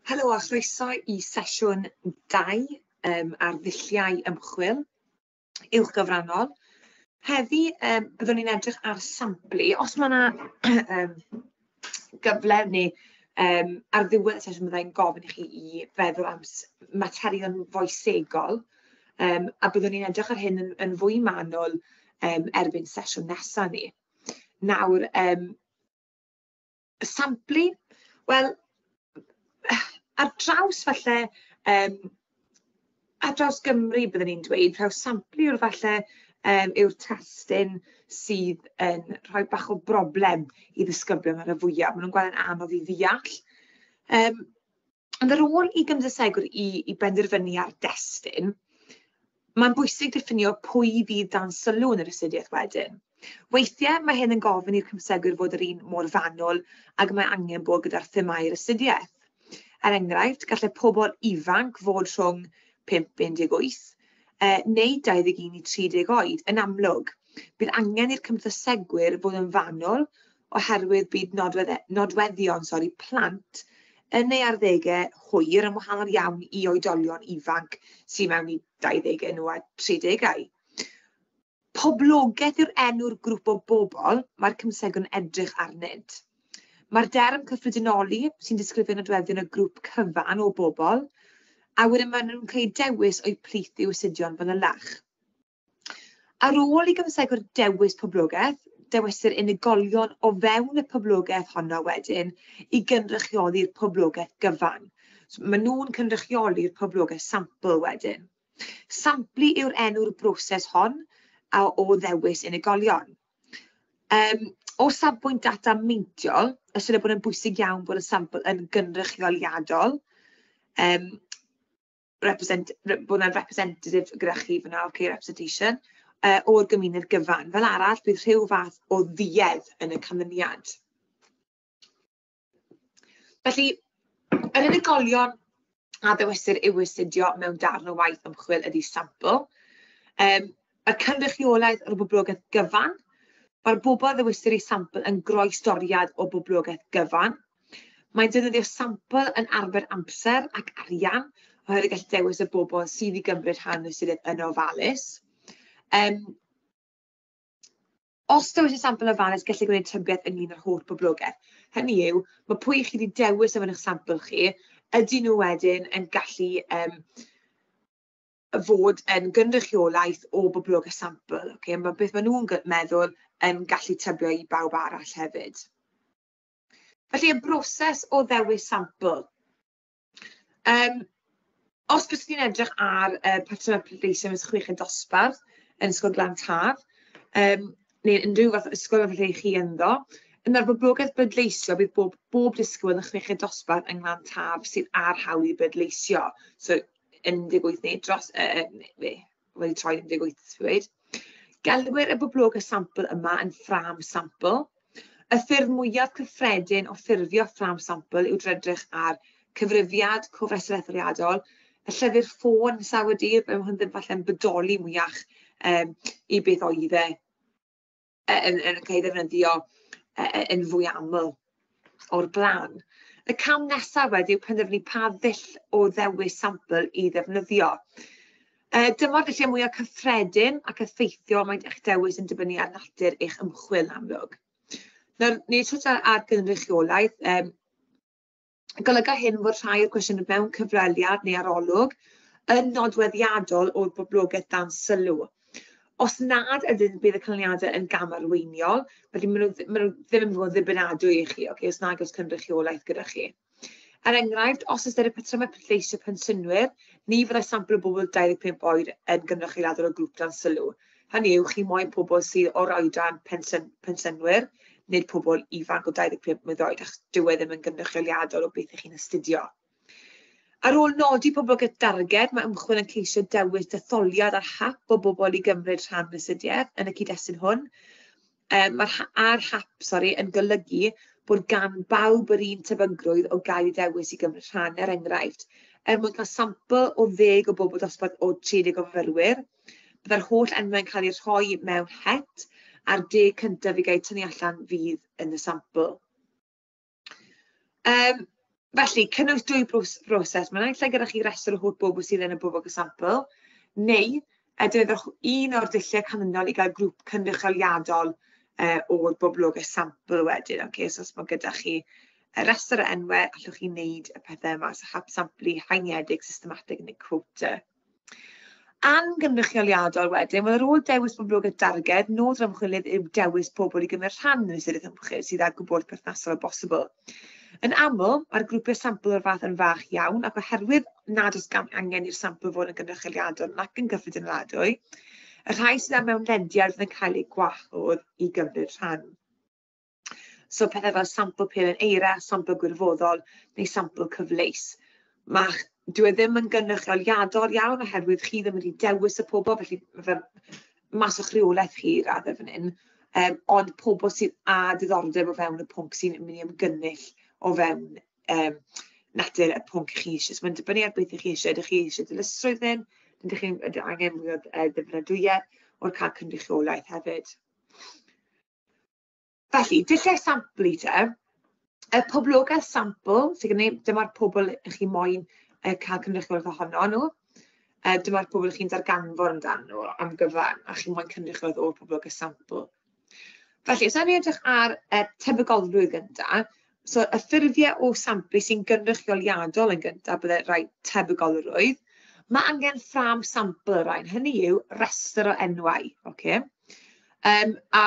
Helo a chroeso i sesiwn 2 ar ddulliau ymchwil uwchgyfrannol. Heddi byddwn ni'n edrych ar samplu. Os mae 'na gyfle neu ar ddiwedd y sesiwn bydda i'n gofyn i chi i feddwl am materion foesegol, a byddwn ni'n edrych ar hyn yn fwy manwl erbyn sesiwn nesa ni. Nawr, samplu, wel, ar draws falle, ar draws Gymru byddwn i'n dweud, taw samplu yw'r falle yw'r testun sydd yn rhoi bach o broblem i ddisgyblion ar y fwyaf. Maen nhw'n gweld yn anodd i ddeall. Ond ar ôl i gymdeithasegwr i benderfynu ar destun, mae'n bwysig diffinio pwy fydd dan sylw yn yr astudiaeth wedyn. Weithiau mae hyn yn gofyn i'r cymdeithasegwyr fod yr un mor fanwl ag mae angen bod gyda'r themâu'r astudiaeth. Er enghraifft, gallai pobl ifanc fod rhwng 5 18 neu 21 i 30 oed. Yn amlwg, bydd angen i'r cymdeithasegwyr fod yn fanwl oherwydd bydd nodweddion, sori, plant yn eu arddegau hwyr yn wahanol iawn i oedolion ifanc sydd mewn i 20au nhw a 30au. Poblogaeth yw'r enw'r grŵp o bobl mae'r cymdeithasegwyr yn edrych arnynt. Mae'r derm cyffredinoli sy'n disgrifio nodweddion y grŵp cyfan o bobl, a wedyn maen nhw'n cael eu dewis o'u plith i'w astudio'n fanylach. Ar ôl i gymdeithasegwyr dewis poblogaeth, dewisir unigolion o fewn y poblogaeth honno wedyn i gynrychioli'r poblogaeth gyfan. So, maen nhw'n cynrychioli'r poblogaeth sampl wedyn. Samplu yw'r enw'r broses hon o ddewis unigolion. O safbwynt data meintiol, ystyried bod yn bwysig iawn bod y sampl yn gynrychioliadol, bod yna representative gyda chi fan'na, okay, representation, o'r gymuned gyfan. Fel arall, bydd rhyw fath o dduedd yn y canlyniad. Felly, yr unigolion a ddewisir i'w astudio mewn darn o waith ymchwil ydy sampl. Y cynrychiolaeth o'r boblogaeth gyfan. Mae'r bobl a ddewisir i sampl yn groestoriad o boblogaeth gyfan. Mae'n defnyddio sampl yn arbed amser ac arian, oherwydd gallu dewis y bobl sydd i gymryd rhan yn y astudiaeth yn ofalus. Os dewis y sampl yn ofalus, gellir gwneud tybiaeth ynglyn â'r holl boblogaeth. Hynny yw, mae pwy chi wedi dewis o fewn eich sampl chi, ydyn nhw wedyn yn gallu fod yn gynrychiolaeth o boblogaeth sampl. Okay? Mae beth maen nhw'n meddwl yn gallu tybio i bawb arall hefyd. Felly, y broses o ddewis sampl. Os byswn i'n edrych ar patrymau pleidleisio mewn chweched dosbarth yn Ysgol Glan Taf, neu unrhyw fath o ysgol falle chi ynddo, yna'r boblogaeth bleidleisio bydd bob disgybl yn y chweched dosbarth yng Nglan Taf sydd â'r hawl i bleidleisio. So, 18 neu dros, wedi troi 18, dweud. Gelwir y boblogaeth sampl yma yn ffrâm sampl. Y ffurf mwyaf cyffredin o ffurfio ffrâm sampl yw drwy edrych ar cyfrifiad, cofrestr etholiadol, y llyfr ffôn sawl dydd, mae hwn ddim falle'n bodoli mwyach i beth oedd e yn cael ei ddefnyddio yn fwy aml o'r blaen. Y cam nesaf wedyn yw penderfynu pa ddull o ddewis sampl i ddefnyddio. Dyma'r dulliau mwyaf cyffredin ac effeithiol mae eich dewis yn dibynnu ar natur eich ymchwil yn amlwg. Nawr, ni wedi twtio ar gynrychiolaeth. Golyga hyn fod rhai o'r cwestiynau mewn cyfweliad neu arolwg yn nodweddiadol o'r boblogaeth dan sylw. Os nad ydyn, bydd y canlyniadau yn gamarweiniol, felly maen nhw ddim yn fod yn ddibynadwy i chi, okay, os nag oes cynrychiolaeth gyda chi. Er enghraifft, os ystyrir patrymau pleidleisio pensiynwyr, ni fyddai sampl o bobl 25 oed yn gynrychioliadol o grŵp dan sylw. Hynny yw, chi moyn pobl sydd o'r oedran pensiynwyr, nid pobl ifanc o 25 mlwydd oed, achos dyw e ddim yn gynrychioliadol o beth ych chi'n astudio. Ar ôl nodi poblogaeth darged, mae ymchwil yn ceisio dewis detholiad ar hap o bobl i gymryd rhan yn y astudiaeth yn y cyd-destun hwn. Mae'r ar hap, sori, yn golygu bod gan bawb yr un tebygrwydd o gael eu dewis i gymryd rhan, er enghraifft, er mwyn cael sampl o 10 o bobl dosbarth o 30 o fyfyrwyr, byddai'r holl enwau'n cael eu rhoi mewn het, a'r 10 cyntaf i gael eu tynnu allan fydd yn y sampl. Felly, cynnwys dwy broses. Mae naill ai gyda chi restr o holl bobl sydd yn y bobl sampl, neu defnyddiwch un o'r dulliau canlynol i gael grŵp cynrychioliadol o'r boblogaeth sampl wedyn. Okay? So os mae gyda chi y restr o enwau, allwch chi wneud y pethau yma, so hap samplu, haeniedig, systematig neu quota. Angynrychioliadol wedyn, wel ar ôl dewis boblogaeth darged, nod yr ymchwilydd yw dewis pobl i gymryd rhan yn y astudiaeth ymchwil sydd â gwybodaeth perthnasol o bosibl. Yn aml, mae'r grwpiau sampl o'r fath yn fach iawn, ac oherwydd nad oes angen i'r sampl fod yn gynrychioliadol nac yn gyffredinoladwy, y rhai sydd â mewnlediad fydd yn cael eu gwahodd i gymryd rhan. So pethau fel sampl pelen eira, sampl gwirfoddol neu sampl cyfleus. Dyw e ddim yn gynrychioliadol iawn oherwydd chi ddim wedi dewis y pobl, felly ma' fe mas o'ch rheolaeth chi i raddau fan hyn, ond pobl sydd â diddordeb o fewn y pwnc sy'n mynd i ymgynnull o fewn natur y pwnc chi eisiau. So mae'n dibynnu ar beth ych chi eisiau. Ydych chi eisiau dilysrwydd hyn? Ydych chi'n angen mwy o ddibynadwyedd o'r cael cynrychiolaeth hefyd? Felly, dulliau samplu te. Y poblogaeth sampl, sydd gen i, dyma'r pobl ych chi moyn cael cynrychiolaeth ohono nhw. Dyma'r pobl ych chi'n darganfod amdano nhw am gyfan, a chi moyn cynrychiolaeth o'r poblogaeth sampl. Felly, os ewn ni edrych ar tebygolrwydd gyntaf, so y ffurfiau o samplu sy'n gynrychioliadol yn gyntaf, bydde rhai tebygolrwydd. Mae angen ffrâm sampl y rhain, hynny yw restr o enwau. Okay? A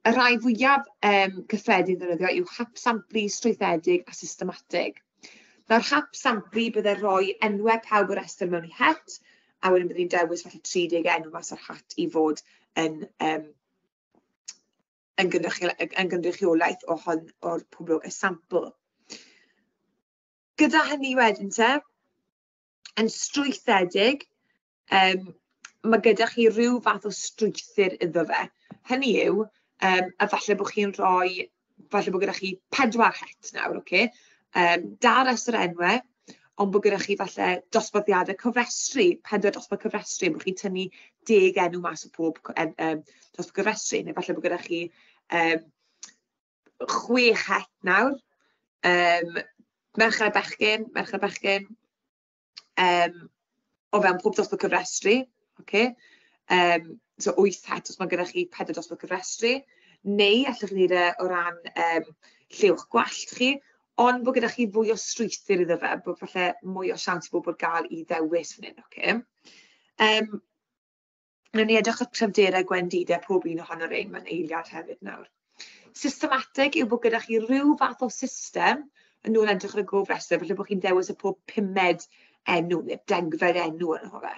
y rhai fwyaf cyffredin ddefnyddio yw hap samplu strwythedig a systematig. Nawr, hap samplu bydde rhoi enwau pawb o'r restr mewn i het, a wedyn byddwn ni'n dewis falle 30 enw mas o'r hat i fod yn gynrychiolaeth o hon o'r poblogaeth sampl. Gyda hynny wedyn te, yn strwythedig, mae gyda chi rhyw fath o strwythur iddo fe. Hynny yw, a falle bod chi'n rhoi, falle bod gyda chi 4 het nawr, ocê? Da restr enwau, ond bod gyda chi falle dosbarthiadau cofrestru, 4 dosbarth cofrestru, bod chi'n tynnu 10 enw mas o pob dosbarth cofrestru, neu falle bod gyda chi 6 het nawr, merched a bechgyn, o fewn pob dosbarth cofrestru, ocê? So 8 het os mae gyda chi 4 dosbarth cofrestru, neu allwch chi wneud e o ran lliw'ch gwallt chi, ond bod gyda chi fwy o strwythur iddo fe, bod falle mwy o siawns i bobl gael i ddewis fan hyn, ocê? Wnawn ni edrych ar cryfderau gwendidau pob un ohono'r rhain mewn eiliad hefyd nawr. Systematig yw bod gyda chi rhyw fath o system yn ôl edrych ar y gofrestr, falle bod chi'n dewis y pob 5med enw neu 10fed enw yn fe.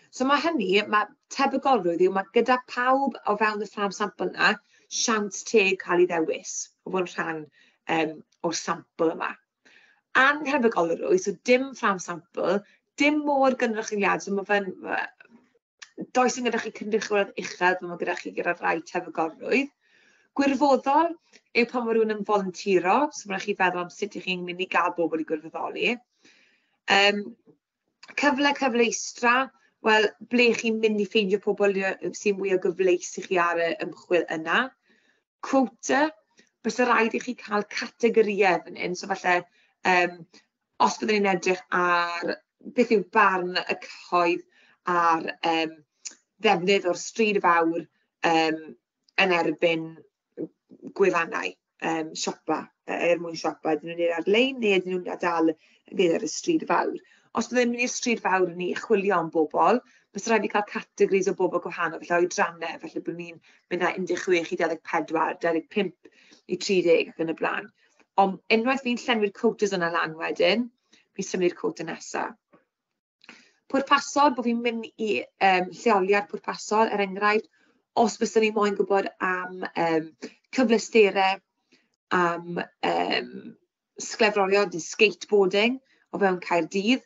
So mae hynny, mae tebygolrwydd yw mae gyda pawb o fewn y ffrâm sampl yna siawns teg cael ei ddewis o fod yn rhan o'r sampl yma. Anhebygolrwydd, so dim ffrâm sampl, dim mor gynrychioliad, so mae fe'n... Does dim gyda chi cynrychiolaeth uchel fel mae gyda chi gyda rhai tebygolrwydd. Gwirfoddol yw pan mae rhywun yn volunteero, so mae rhaid chi feddwl am sut ych chi'n mynd i gael bobl i gwirfoddoli. Cyfle cyfleustra, wel, ble chi'n mynd i ffeindio pobl sy'n mwy o gyfleus i chi ar y ymchwil yna. Quota, byse rhaid i chi cael categorïau fan hyn, so falle os byddwn ni'n edrych ar beth yw barn y cyhoedd ar ddefnydd o'r stryd fawr yn erbyn gwefannau siopa, er mwyn siopa, ydyn nhw'n gwneud ar-lein neu ydyn nhw'n dal yn gwneud ar y stryd fawr. Os byddai'n mynd i'r stryd fawr ni chwilio am bobl, byse rhaid i cael categories o bobl gwahanol, felly oedrannau, felly bod ni'n mynd â 16 i 24, 25 i 30 ac yn y blaen. Ond unwaith fi'n llenwi'r quotas yna lan wedyn, fi'n symud i'r quota nesaf. Pwrpasol, bod fi'n mynd i lleoliad pwrpasol, er enghraifft, os fyswn ni moyn gwybod am cyfleusterau, am sglefrolion neu skateboarding o fewn Caerdydd,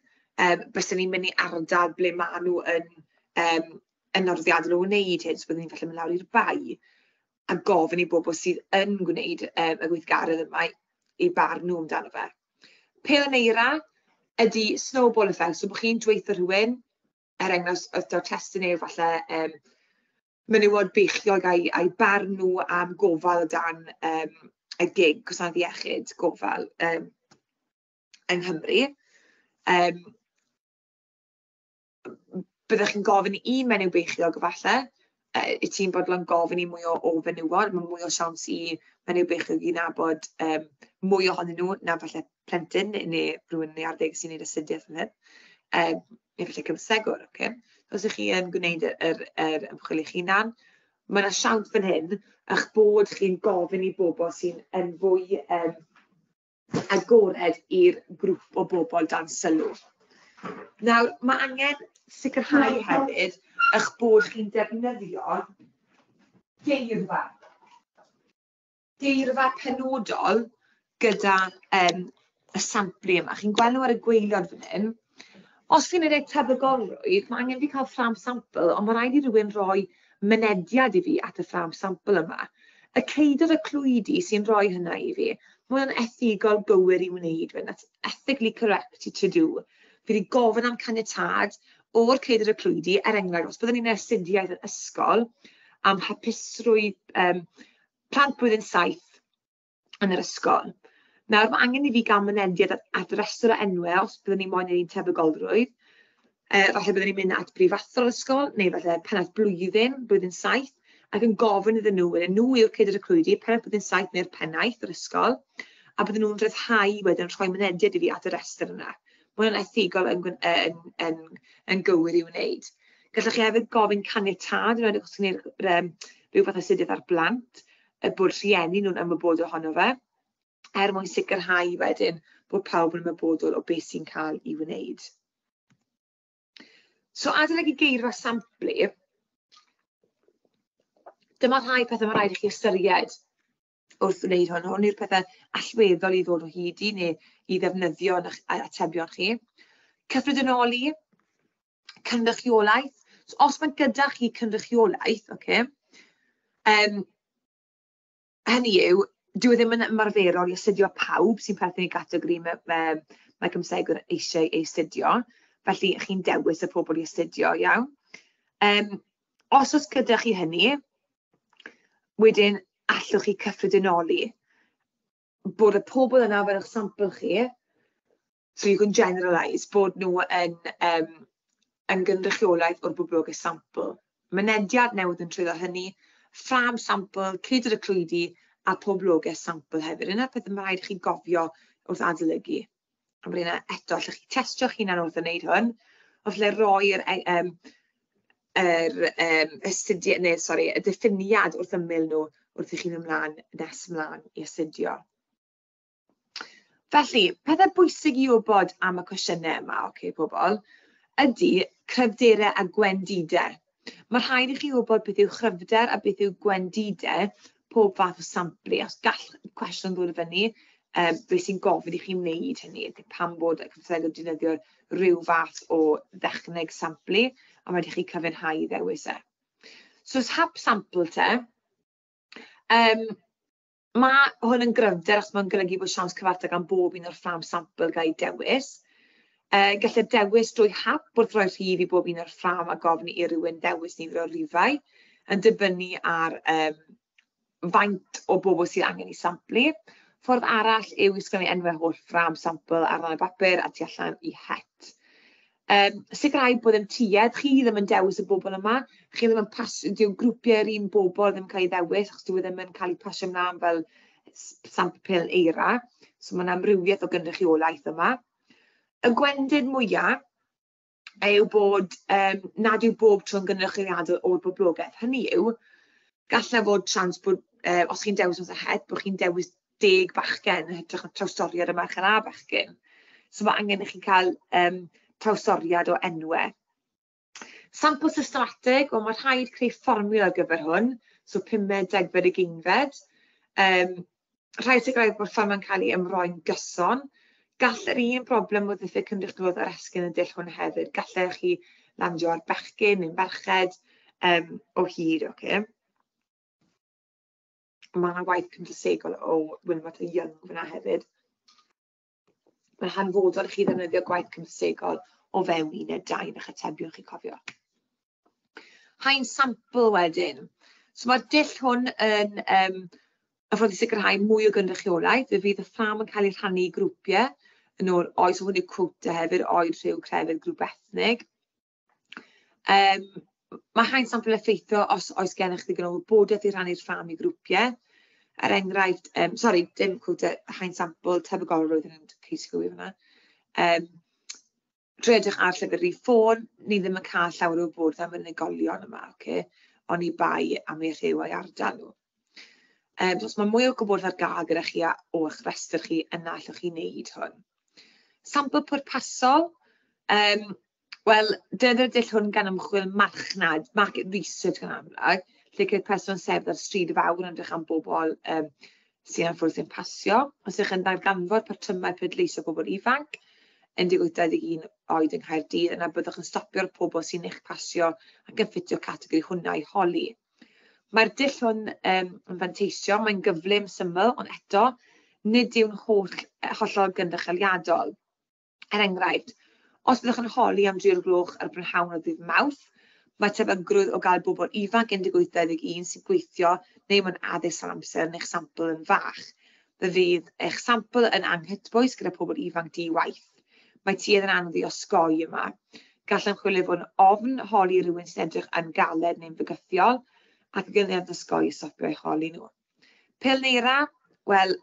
byswn ni'n mynd i ardal ble maen nhw yn nodweddiadol o wneud hyn, so byddwn ni'n falle mynd lawr i'r Bae a gofyn i bobl sydd yn gwneud y gweithgaredd yma i barn nhw amdano fe. Pêl yn eira ydy snowball effect, so bod chi'n dweutho rhywun, er enghraifft, os daw'r testun yw falle menywod beichiog a'i barn nhw am gofal o dan y gig, gwasanaeth iechyd, gofal yng Nghymru. Byddech chi'n gofyn i un menyw beichiog falle, wyt ti'n bodlon gofyn i mwy o fenywod, mae mwy o siawns i menyw beichiog i nabod mwy ohonyn nhw na falle plentyn neu rhywun yn ei arddeg sy'n gwneud astudiaeth fan hyn, neu falle cymsegwr. Okay? Os ych chi yn gwneud yr ymchwil eich hunan, mae yna siawns fan hyn eich bod chi'n gofyn i bobl sy'n yn fwy agored i'r grŵp o bobl dan sylw. Nawr, mae angen sicrhau hefyd eich bod chi'n defnyddio geirfa. Geirfa penodol gyda y samplu yma. Chi'n gweld nhw ar y gwaelod fan hyn. Os chi'n gwneud tebygolrwydd, mae angen fi cael ffrâm sampl, ond mae rhaid i rywun roi mynediad i fi at y ffrâm sampl yma. Y ceidwad y clwydi sy'n rhoi hynna i fi. Mae hwnna'n ethigol gywir i wneud fe. That's ethically correct to do. Fi wedi gofyn am caniatâd o'r ceidwad y clwydi, er enghraifft, os byddwn ni'n astudiaeth yn ysgol am hapusrwydd plant blwyddyn 7 yn yr ysgol. Nawr, mae angen i fi gael mynediad at restr o enwau os byddwn ni moyn ein tebygolrwydd. Falle byddwn ni'n mynd at brifathro'r ysgol, neu falle pennaeth blwyddyn 7, ac yn gofyn iddyn nhw, wedyn nhw yw'r ceidwad y clwydi, pennaeth blwyddyn 7 neu'r pennaeth yr ysgol, a bydden nhw'n rhyddhau wedyn rhoi mynediad i fi at y restr yna. Mae hwnna'n ethigol yn gywir i wneud. Gallwch chi hefyd gofyn caniatâd, yn enwedig os chi'n gwneud rhyw fath o astudiaeth ar blant, bod rhieni nhw'n ymwybodol ohono fe, er mwyn sicrhau wedyn bod pawb yn ymwybodol o beth sy'n cael ei wneud. So adolygu geirfa samplu, dyma rhai pethau mae rhaid i chi ystyried wrth wneud hwn. Hwn yw'r pethau allweddol i ddod o hyd i neu i ddefnyddio yn eich atebion chi. Cyffredinoli, cynrychiolaeth. So, os mae gyda chi cynrychiolaeth, okay, hynny yw, dyw e ddim yn ymarferol i astudio pawb sy'n perthyn i gategori mae cymsegwr eisiau ei astudio. Felly, chi'n dewis y pobl i astudio, iawn. Os oes gyda chi hynny, wedyn allwch chi cyffredinoli bod y pobl yna fel eich sampl chi, so you can generalise, bod nhw yn gynrychiolaeth o'r boblogaeth sampl. Mynediad newydd yn trwyddo hynny, ffrâm sampl, ceidwad y clwydi a poblogaeth sampl hefyd. Yna'r peth mae rhaid i chi gofio wrth adolygu. A bod yna eto, allwch chi testio'ch hunan wrth wneud hwn, o falle roi'r astudiaeth, neu sori, y diffiniad wrth ymyl nhw wrth i chi fynd ymlaen, nes ymlaen i astudio. Felly, pethau bwysig i wybod am y cwestiynau yma, oce, pobl, ydy cryfderau a gwendidau. Mae rhaid i chi wybod beth yw chryfder a beth yw gwendidau pob fath o samplu. Os gall cwestiwn ddod i fyny, beth sy'n gofyn i chi wneud hynny, ydy pam bod y cymdeithaseg yn defnyddio rhyw fath o ddechneg samplu, a mae rhaid i chi cyfiawnhau i ddewis e. So, os hap sampl te, mae hwn yn gryfder achos mae'n golygu bod siawns cyfartal gan bob un o'r ffrâm sampl gael ei dewis. Gellir dewis drwy hap wrth roi rhif i bob un o'r ffrâm a gofyn i rywun ddewis nifer o rifau, yn dibynnu ar faint o bobl sydd angen ei samplu. Ffordd arall yw i sgrifennu enwau holl ffrâm sampl ar ran y bapur a tu allan i het. Sicrhau bod ddim tuedd, chi ddim yn dewis y bobl yma, chi ddim yn pasio, dyw grwpiau'r un bobl ddim yn cael ei ddewis, achos dyw e ddim yn cael ei pasio ymlaen fel sampl pêl eira. So mae yna amrywiaeth o gynrychiolaeth yma. Y gwendid mwyaf yw bod nad yw bob tro'n gynrychioliadol o'r boblogaeth. Hynny yw, gallai fod siawns bod, os chi'n dewis mas o het, bod chi'n dewis 10 bachgen yn hytrach na trawstoriad y merched a bechgyn. So mae angen i chi cael trawstoriad o enwau. Sampl systematig, wel mae rhaid creu fformiwla ar gyfer hwn, so 5fed, 10fed, 20fed. Rhaid sicrhau bod fformiwla'n cael ei ymroi'n gyson. Gall yr un broblem o ddiffyg cynrychiolaeth ar esgyn y dull hwn hefyd. Gallech chi landio ar bechgyn neu merched o hyd, ocê. Mae yna waith cymdeithasegol o Wilmot a Young fyna hefyd. Mae'n hanfodol i chi ddefnyddio gwaith cymdeithasegol o fewn uned 2 yn eich atebion chi cofio. Haen sampl wedyn. So mae'r dull hwn yn y ffordd i sicrhau mwy o gynrychiolaeth. Fe fydd y ffrâm yn cael ei rhannu i grwpiau Yn ôl oes, hwn yw quota hefyd, oed, rhyw, crefydd, grŵp ethnig. Mae haen sampl effeithio os oes gennych ddigon o wybodaeth i rhannu'r ffrâm i grwpiau. Er enghraifft, sori, dim quota, haen sampl, tebygolrwydd yn ceisio gywir hwnna. Trwy edrych ar llyfr rhif ffôn, ni ddim yn cael llawer o wybodaeth am unigolion yma, ocê, oni bai am eu rhyw a'u ardal nhw. So os mae mwy o gwybodaeth ar gael gyda chi a o'ch rhestr chi, yna allwch chi wneud hwn. Sampl pwrpasol, wel, defnyddio'r dull hwn gan ymchwil marchnad, market research gan amlaf, lle ceir person sefyll ar stryd fawr yn edrych am bobl sy'n anffodus yn pasio. Os ydych yn darganfod patrymau pleidleisio pobl ifanc 18-21 oed yng Nghaerdydd, yna byddwch yn stopio'r pobl sy'n eich pasio ac yn ffitio categori hwnna i holi. Mae'r dull hwn yn fanteisio, mae'n gyflym, syml, ond eto, nid yw'n hollol gynrychioliadol. Er enghraifft, os byddwch yn holi am 3 o'r gloch ar brynhawn o ddydd Mawrth, mae tebygrwydd o gael bobl ifanc 18-21 sy'n gweithio neu mewn addysg am amser yn eich sampl yn fach. Fe fydd eich sampl yn anghytbwys gyda pobl ifanc di-waith. Mae tuedd yn anodd i osgoi yma. Gall ymchwilydd fod yn ofn holi rhywun sy'n edrych yn galed neu'n fygythiol, ac yn gyfnod osgoi stopio eu holi nhw. Pêl neu eira? Wel,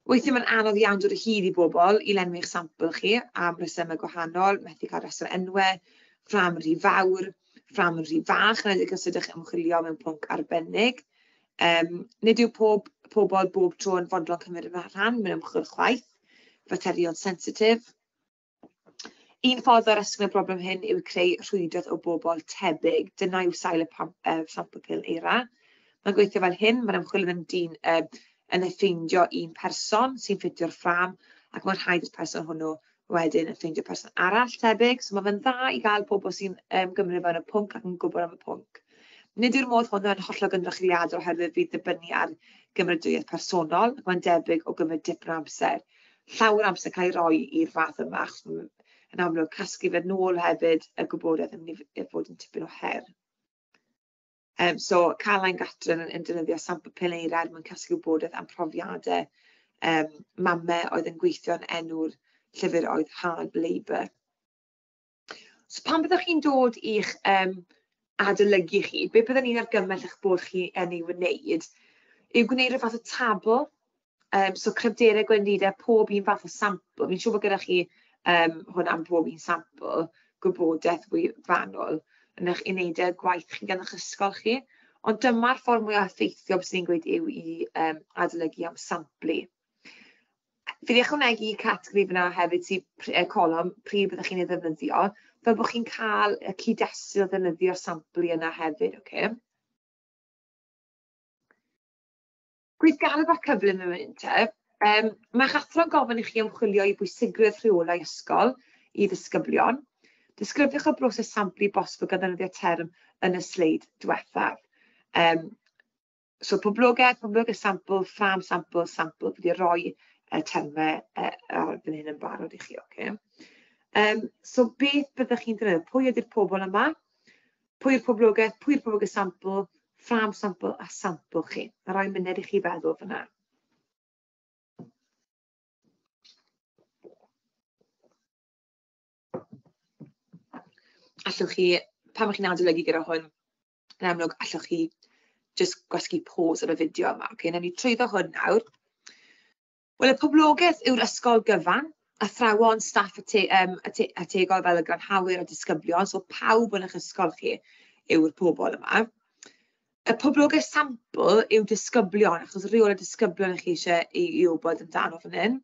weithiau mae'n anodd iawn dod o hyd i bobl i lenwi eich sampl chi am resymau gwahanol, methu cael rhestr enwau, ffrâm rhy fawr, ffrâm rhy fach, yn enwedig os ydych yn ymchwilio mewn pwnc arbennig. Nid yw pob pobl bob tro yn fodlon cymryd rhan mewn ymchwil chwaith, faterion sensitif. Un ffordd o'r esgyn y broblem hyn yw creu rhwydwaith o bobl tebyg. Dyna yw sail y sampl pêl eira. Mae'n gweithio fel hyn, mae'r ymchwilydd yn dyn, yn ffeindio un person sy'n ffitio'r ffrâm, ac mae'n rhaid i'r person hwnnw wedyn yn ffeindio person arall tebyg. So mae fe'n dda i gael pobl sy'n gymryd fewn y pwnc ac yn gwybod am y pwnc. Nid yw'r modd hwn yn hollol gynrychioliadol oherwydd fydd dibynnu ar gymeradwyaeth personol, ac mae'n debyg o gymryd dipyn o amser. Llawer o amser cael ei roi i'r fath yma, achos yn amlwg casglu fe nôl hefyd y gwybodaeth yn mynd i fod yn tipyn o her. So Caroline Gatren yn defnyddio sampl pêl eira er mwyn casglu gwybodaeth am profiadau mamau oedd yn gweithio yn enw'r llyfr oedd Hard Labour. So pan byddwch chi'n dod i'ch adolygu chi, be byddwn ni'n argymell eich bod chi yn ei wneud yw gwneud rhyw fath o tabl. So cryfderau, gwendidau, pob un fath o sampl. Fi'n siŵr bod gyda chi hwn am bob un sampl, gwybodaeth fwy fanwl yn eich unedau gwaith chi gan eich ysgol chi. Ond dyma'r ffordd mwyaf effeithiol byswn i'n gweud yw i adolygu am samplu. Fi wedi ychwanegu categori fyna hefyd sy'n colofn pryd byddwch chi'n ei ddefnyddio, fel bod chi'n cael y cyd-destun o ddefnyddio'r samplu yna hefyd. Okay? Gweithgaredd bach cyflym yn mynd te. Mae'ch athro'n gofyn i chi ymchwilio i bwysigrwydd rheolau ysgol i ddisgyblion. Disgrifiwch y broses samplu bosibl gan ddefnyddio term yn y sleid diwethaf. So poblogaeth, poblogaeth sampl, ffrâm sampl, sampl. Fi wedi rhoi y termau ar fan hyn yn barod i chi. Okay? So beth byddwch chi'n defnyddio? Pwy ydy'r pobl yma? Pwy yw'r poblogaeth? Pwy yw'r poblogaeth sampl? Ffrâm sampl a sampl chi. Mae rhai munud i chi feddwl fyna. Allwch chi, pan ych chi'n adolygu gyda hwn, yn amlwg allwch chi jyst gwasgu pause ar y fideo yma. Okay, nawn ni trwyddo hwn nawr. Wel, y poblogaeth yw'r ysgol gyfan, athrawon, staff ategol fel y glanhawyr a disgyblion, so pawb yn eich ysgol chi yw'r pobl yma. Y poblogaeth sampl yw disgyblion, achos rheol y disgyblion ych chi eisiau i wybod amdano fan hyn.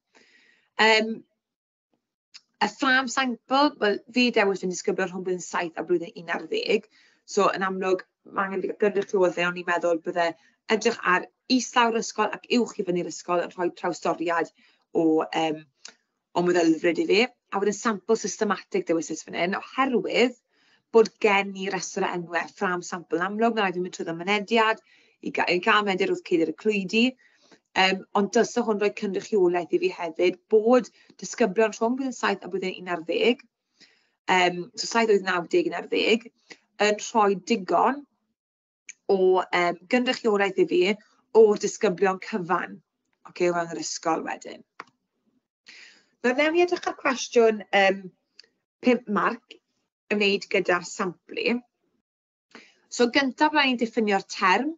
Y ffrâm sampl, wel, fi dewis yn disgyblion rhwng blwyddyn 7 a blwyddyn 11. So, yn amlwg, mae angen gynrychiolaeth, o'n i'n meddwl bydde edrych ar islawr ysgol ac uwch i fyny'r ysgol yn rhoi trawstoriad o meddylfryd i fi. A wedyn sampl systematig dewisais fan hyn, oherwydd bod gen i restr o enwau ffrâm sampl. Yn amlwg, mae'n rhaid i fi mynd trwyddo mynediad, i gael mynediad wrth ceidir y clwydi. Ond dylse hwn roi cynrychiolaeth i fi hefyd bod disgyblion rhwng blwyddyn 7 a blwyddyn 11, so 7, 8, 9, 10, 11, yn rhoi digon o gynrychiolaeth i fi o'r disgyblion cyfan, okay, o fewn yr ysgol wedyn. Nawr, newn ni edrych ar cwestiwn 5 marc ymwneud gyda samplu. So gyntaf, rhaid ni'n diffinio'r term.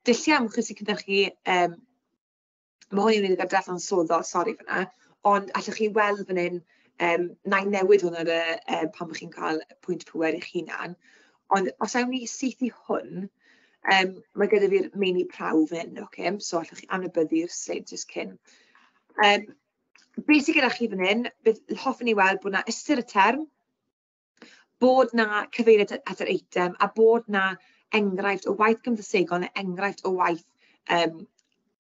Dulliau ymchwil sy'n cynhyrchu, mae hwn i wneud gyda dadansoddol, sori fan'na, ond allwch chi weld fan hyn, na i newid hwn ar y pan bod chi'n cael pwynt pŵer eich hunan, ond os awn ni syth i hwn, mae gyda fi'r meini prawf hyn, ocê, so allwch chi anwybyddu'r sleid jyst cyn. Be sydd gyda chi fan hyn, beth hoffwn i weld bod 'na ystyr y term, bod 'na cyfeiriad at yr eitem, a bod 'na enghraifft o waith cymdeithasegol neu enghraifft o waith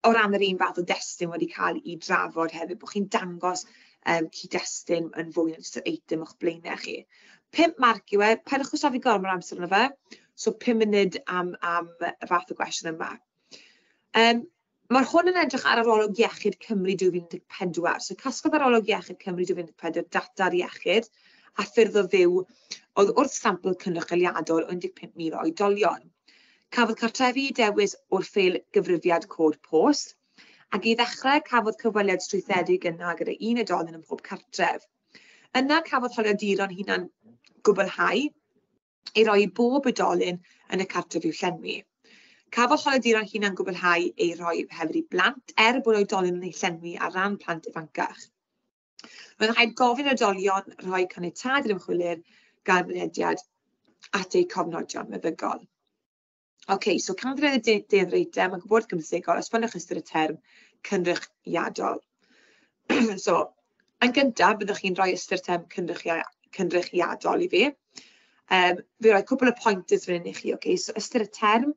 o ran yr un fath o destun wedi cael ei drafod hefyd, bod chi'n dangos cyd-destun yn fwy na jyst yr eitem o'ch blaenau chi. 5 marc yw e, peidiwch â safio gormod o amser arno fe, so 5 munud am y fath o gwestiwn yma. Mae hwn yn edrych ar Arolwg Iechyd Cymru 2014. So casglodd Arolwg Iechyd Cymru 2014 data ar iechyd a ffyrdd o fyw oedd wrth sampl cynrychioliadol o 15,000 o oedolion. Cafodd cartrefi eu dewis o'r ffeil gyfrifiad cod post, ac i ddechrau cafodd cyfweliad strwythedig yna gyda un oedolyn ym mhob cartref. Yna cafodd holiaduron hunan gwblhau ei roi i bob oedolyn yn y cartref i'w llenwi. Cafodd holiaduron hunan gwblhau ei roi hefyd i blant, er bod oedolion yn eu llenwi ar ran plant ifancach. Roedd rhaid gofyn i'r oedolion rhoi caniatâd i'r ymchwilydd gael mynediad at eu cofnodion meddygol. OK, so canfyddiad y deunydd eitem a gwybodaeth gymdeithasegol, esboniwch ystyr y term cynrychiadol. So, yn gyntaf, byddwch chi'n rhoi ystyr term cynrychiadol i fi. Fi roi cwpl o pointers fan hyn i chi, OK, so ystyr y term.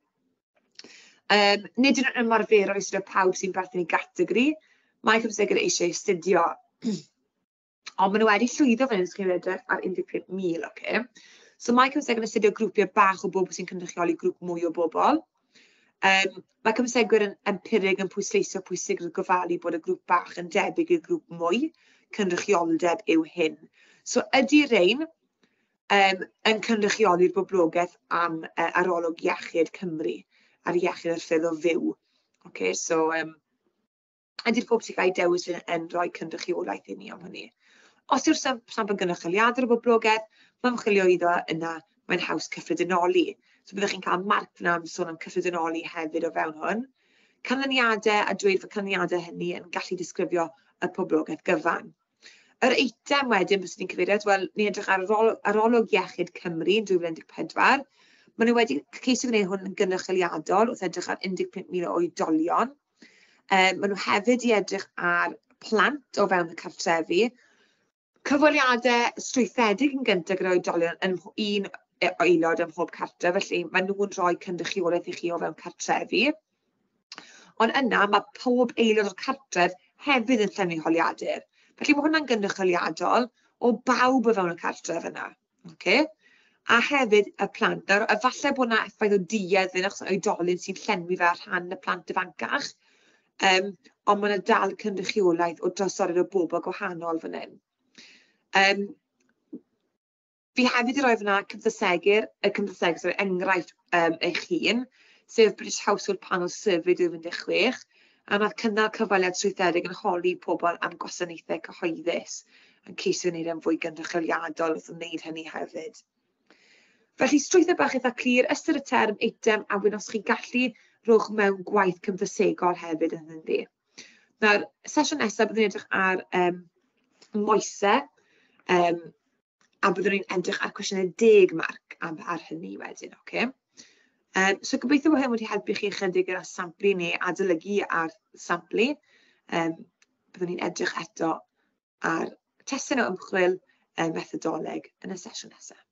Nid yw'n ymarferol i astudio pawb sy'n perthyn i gategori. Mae cymdeithasegwyr eisiau astudio. Ond maen nhw wedi llwyddo fan hyn, os chi'n edrych ar 15,000, ocê. So mae cymdeithasegwyr yn astudio grwpiau bach o bobl sy'n cynrychioli grŵp mwy o bobl. Mae cymdeithasegwyr yn empirig yn pwysleisio pwysigrwydd gofalu bod y grŵp bach yn debyg i'r grŵp mwy. Cynrychioldeb yw hyn. So ydy rhain yn cynrychioli'r boblogaeth am Arolwg Iechyd Cymru ar iechyd a'r ffyrdd o fyw? Okay, so ydy'r pob sy'n cael ei dewis yn rhoi cynrychiolaeth i ni am hynny? Os yw'r sampl gynrychioliadol o'r boblogaeth, mae ymchwilio iddo yna, mae'n haws cyffredinoli. So byddwch chi'n cael marc fyna am sôn am cyffredinoli hefyd o fewn hwn. Canlyniadau a dweud fod canlyniadau hynny yn gallu disgrifio y poblogaeth gyfan. Yr eitem wedyn, byswn i'n cyfeirio at, wel, ni'n edrych ar Arolwg Iechyd Cymru yn 2014. Maen nhw wedi ceisio gwneud hwn yn gynrychioliadol wrth edrych ar 15,000 o oedolion. Maen nhw hefyd i edrych ar plant o fewn y cartrefi. Cyfweliadau strwythedig yn gyntaf gyda oedolion yn un aelod ym mhob cartref, felly maen nhw'n rhoi cynrychiolaeth i chi o fewn cartrefi. Ond yna mae pob aelod o'r cartref hefyd yn llenwi holiadur. Felly mae hwnna'n gynrychioliadol o bawb o fewn y cartref yna. Okay? A hefyd y plant. Nawr, efallai bod yna effaith o duedd fan achos oedolyn sy'n llenwi fe ar rhan y plant ifancach. Ond mae yna dal cynrychiolaeth o drosoriad o bobl gwahanol fan hyn. Fi hefyd i roi fyna cymdeithasegir, y cymdeithaseg, sorry, enghraifft eich hun, sef British Household Panel Survey 2016, a nath cynnal cyfweliad strwythedig yn holi pobl am gwasanaethau cyhoeddus, yn ceisio wneud e'n fwy gynrychioliadol wrth wneud hynny hefyd. Felly, strwythur bach eitha clir, ystyr y term, eitem, a wedyn os chi'n gallu, rhowch mewn gwaith cymdeithasegol hefyd yn ynddi. Nawr, sesiwn nesaf byddwn ni'n edrych ar moesau, a byddwn ni'n edrych ar cwestiynau 10 marc ar hynny wedyn, ocê? So gobeithio bod hyn wedi helpu chi ychydig gyda samplu neu adolygu ar samplu. Byddwn ni'n edrych eto ar testun o ymchwil, methodoleg yn y sesiwn nesaf.